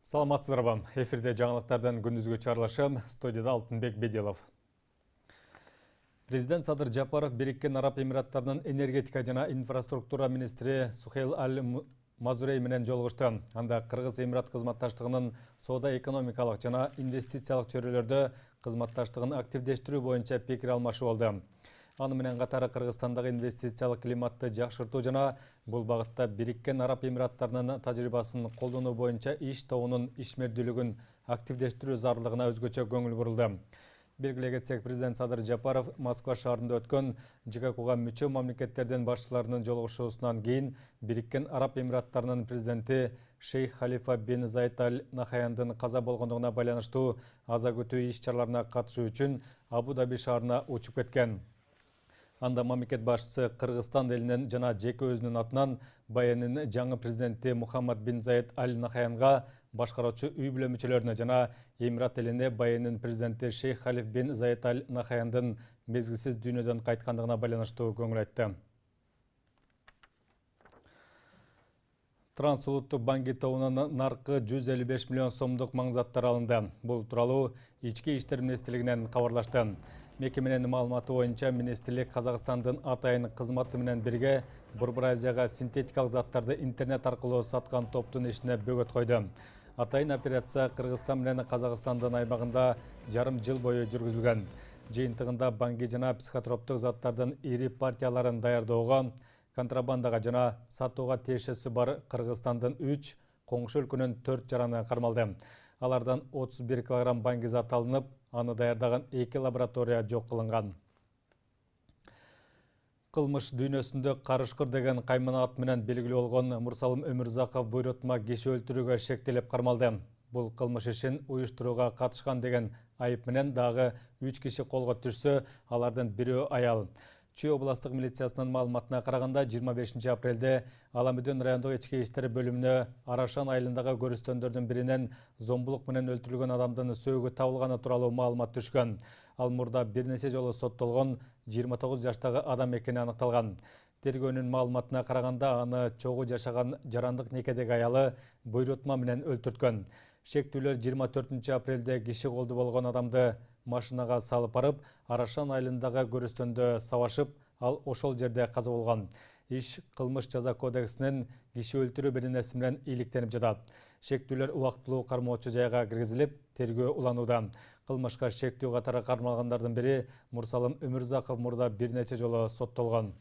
Саламатсыздарбы. Эфирде жаңылыктардан күндүзгү чыгарылышым, студияда Алтынбек Беделов. Президент Садыр Жапаров Бириккен Араб Эмираттарынын энергетика жана инфраструктура министри Сухейл Аль-Мазурей менен жолугушту. Анда Кыргыз Эмират кызматташтыгынын соода экономикалык жана инвестициялык чөйрөлөрдө кызматташтыгын активдештирүү боюнча пикир алмашуу болду. Аны менен катары Кыргызстандагы инвестициялык климатты жакшыртуу жана бул багытта Бириккен Араб Эмираттарынын тажрыйбасын колдонуу боюнча иш тобунун ишмердүүлүгүн активдештирүү зарылдыгына өзгөчө көңүл бурулду. Белгилей кетсек, президент Садыр Жапаров Москва шаарында өткөн ЖККга мүчө мамлекеттердин башчыларынын жолугушуусунан кийин Бириккен Араб Эмираттарынын президенти Шейх Халифа бин Заид Аль Нахаяндын каза болгондугуна байланыштуу аза күтүү иш-чараларына катышуу үчүн Абу-Даби шаарына учуп кеткен. Анда мамлекет башчысы Кыргызстан элинен жана жеке өзүнүн атынан Байенин жаңы президенти Мухаммад бин Заид Аль Нахаянга, башкаруучу үй бүлө мүчөлөрүнө жана Эмират элине Байенин президенти Шейх Халиф бин Заид Аль Нахаяндын мезгилсиз дүйнөдөн кайткандыгына байланыштуу көңүл айтты. Трансулуттук банк тобунун наркы 155 миллион сомдук маңзаттар алынды. Бул тууралуу Ички иштер министрлигинен кабарлашты. Мекеменин маалыматы боюнча министрлик Казакстандын атайын кызматы менен бирге Борбор Азияга синтетикалык заттарды интернет аркылуу саткан топтун ишине бөгөт койду. Атайын операция Кыргызстан менен Казакстандын аймагында жарым жыл бою жүргүзүлгөн. Жыйынтыгында банги жана психотроптук заттардын ири партияларын даярдоого, контрабандага жана сатууга тиешеси бар Кыргызстандын 3, коңшу өлкөнүн 4 жараны кармалды. Алардан 31 килограмм банги зат алынып, аны даярдаган 2 лаборатория жок кылынган. Кылмыш дүйнөсүндө Карышкыр деген каймана ат менен белгилүү болгон Мурсалым Өмүрзаков буйрутма киши өлтүрүүгө шектелип кармалды. Бул кылмыш ишин уюштурууга катышкан деген айып менен дагы 3 киши колго түшсө, алардын бирөө аял. Чүй областык милициясынын маалыматына караганда 25 апрелде Аламүдөн райондук ички иштер бөлүмүнө Арашан айылындагы көрүстөндөрдүн биринен зомбулук менен өлтүрүлгөн адамдын сөөгү табылганы тууралуу маалымат түшкөн. Ал мурда бир нече жолу соттолгон 29 жаштагы адам экени аныкталган. Тергөөнүн маалыматына караганда аны чогуу жашаган жарандык некедеги аялы буйрутма менен өлтүрткөн. Шектүүлөр 24 апрелде киши колду болгон адамды машинага салып барып, Арашан айылындагы көрүстөндө сабашып, ал ошол жерде каза болгон. Иш кылмыш жаза кодексинин киши өлтүрүү беренеси менен иликтенип жатат. Шектүүлөр убактылуу кармоочу жайга киргизилип, тергөө уланууда. Кылмышка шектүү катары кармалгандардын бири Мурсалым Өмүрзаков мурда бир нече жолу соттолгон.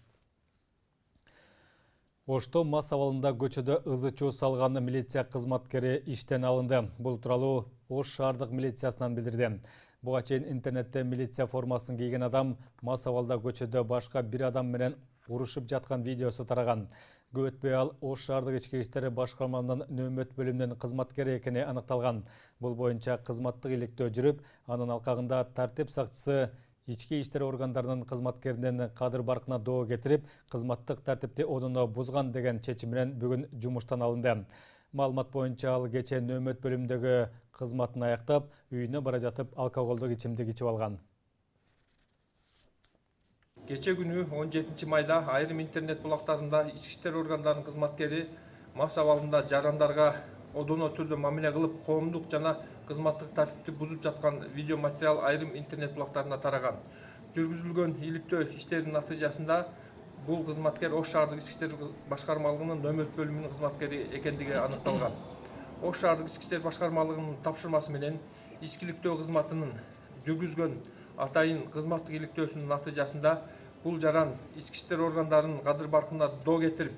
Ошто мас абалында көчөдө ызы чуу салган милиция кызматкери иштен алынды. Бул тууралуу Ош шаардык милициясынан билдирди. Буга чейин интернетте милиция формасын кийген адам мас абалда көчөдө башка бир адам менен урушуп жаткан видеосу тараган. Көп өтпөй ал Ош шаардык ички иштер башкармасынын нөөмөт бөлүмүнүн кызматкери экени аныкталган. Бул боюнча кызматтык иликтөө жүрүп, анын алкагында тартип сакчысы ички иштер органдарынын кызматкеринин кадыр баркына доо кетирип, кызматтык тартипти одоно бузган деген чечим менен бүгүн жумуштан алынды. Маалымат боюнча ал кече нөөмөт бөлүмүндөгү кызматын аяктап, үйүнө бара жатып алкоголдук ичимдик ичип алган. Кече күнү 17 майда айрым интернет булактарында ички иштер органдарынын кызматкери мас абалында жарандарга одоно түрдө мамиле кылып, коомдук жана кызматтык тартипти бузуп жаткан видео материал айрым интернет булактарына тараган. Жүргүзүлгөн иликтөө иштеринин натыйжасында бул кызматкер Ош шаардык ички иштер башкармалыгынын нөөмөт бөлүмүнүн кызматкери экендиги аныкталган. Ош шаардык ички иштер башкармалыгынын тапшырмасы менен ичкиликтөө кызматынын жүргүзгөн атайын кызматтык иликтөөсүнүн натыйжасында бул жаран ички иштер органдарынын кадыр баркына доо кетирип,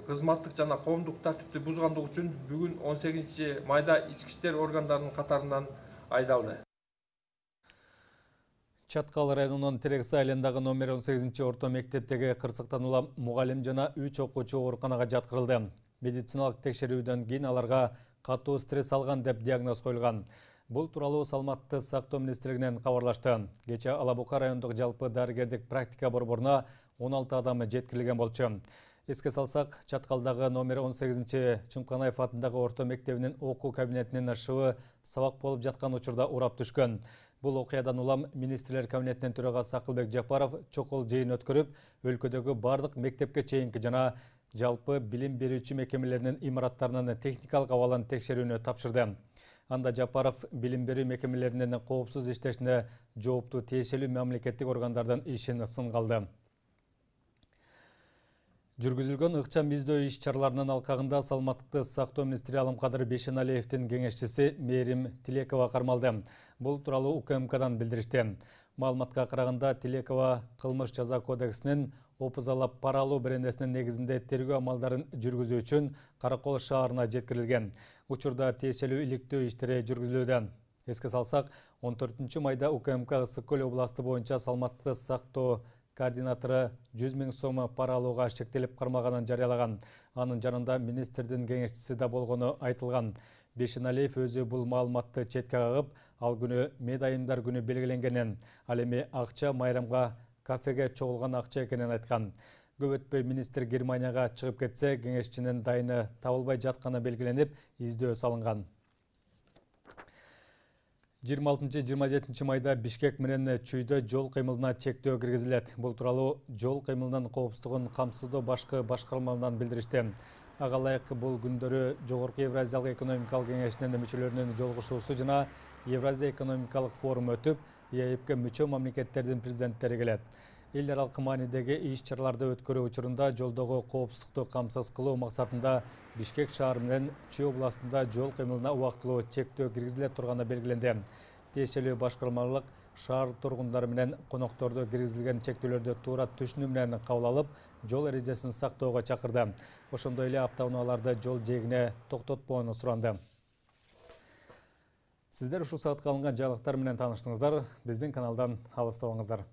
кызматтык жана коомдук тартипти бузгандыгы үчүн бүгүн 18 майда ички иштер органдарынын катарынан айдалды. Чаткал районунун Терекс айылындагы номер 18 орто мектептеги кырсыктан улам мугалим жана 3 окуучу ооруканага жаткырылды. Медициналык текшерүүдөн кийин аларга катуу стресс алган деп диагноз коюлган. Бул тууралуу Саламаттыкты сактоо министрлигинен кабарлашты. Кече Алабука райондук жалпы дарыгердик практика борборуна 16 адам жеткирилген болчу. Эске салсак, Чаткалдагы номер 18 Чымканаев атындагы орто мектебинин окуу кабинетинин шыбы сабак болуп жаткан учурда урап түшкөн. Бул окуядан улам министрлер кабинетинин төрагасы Акылбек Жапаров чокул жыйын өткөрүп, өлкөдөгү бардык мектепке чейинки жана жалпы билим берүүчү мекемелеринин имараттарынын техникалык абалын текшерүүнү тапшырды. Анда Жапаров билим берүү мекемелеринин коопсуз иштешине жооптуу тиешелүү мамлекеттик органдардын ишин сынга алды. Жүргүзүлгөн ыкчам издөө иш-чараларынын алкагында саламаттыкты сактоо министри Алымкадыр Бейшеналиевдин кеңешчиси Мээрим Тилекова кармалды. Бул тууралуу УКМКдан билдиришти. Маалыматка караганда Тилекова кылмыш жаза кодексинин опузалап пара алуу беренесинин негизинде тергөө амалдарын жүргүзүү үчүн Каракол шаарына жеткирилген. Учурда тиешелүү иликтөө иштери жүргүзүлүүдө. Эске салсак, 14 майда УКМК Ысык Көл областы боюнча саламаттыкты сактоо координатору 100 000 сом пара алууга шектелип кармалганын жарыялаган. Анын жанында министрдин кеңешчиси да болгону айтылган. Бейшеналиев өзү бул маалыматты четке кагып, ал күнү медайымдар күнү белгиленгенин, ал эми акча майрамга кафеге чогулган акча экенин айткан. Көп өтпөй министр Германияга чыгып кетсе, кеңешчинин дайыны табылбай жатканы белгиленип, издөө салынган. 26-27 майда Бишкек менен Чүйдө жол кыймылына чектөө киргизилет. Бул тууралуу жол кыймылынын коопсуздугун камсыздоо башкы башкармаларынан билдиришти. Ага ылайык бул күндөрү Жогорку Евразиялык экономикалык кеңешинин мүчөлөрүнүн жолугушуусу жана Евразия экономикалык форум өтүп, ЕАЭПке мүчө мамлекеттердин президенттери келет. Эл аралык маанидеги иш-чараларды өткөрүү учурунда жолдогу коопсуздукту камсыз кылуу максатында Бишкек шаары менен Чүй областында жол кыймылына убактылуу чектөө киргизиле турганы белгиленди. Тиешелүү башкармалык шаар тургундары менен конокторду киргизилген чектөөлөрдү туура түшүнүү менен кабыл алып, жол эрежесин сактоого чакырды. Ошондой эле автоунааларды жол жээгине токтотпоону суранды. Сиздер ушул саатка алынган жаңылыктар менен тааныштыңыздар. Биздин каналдан алыстабаңыздар.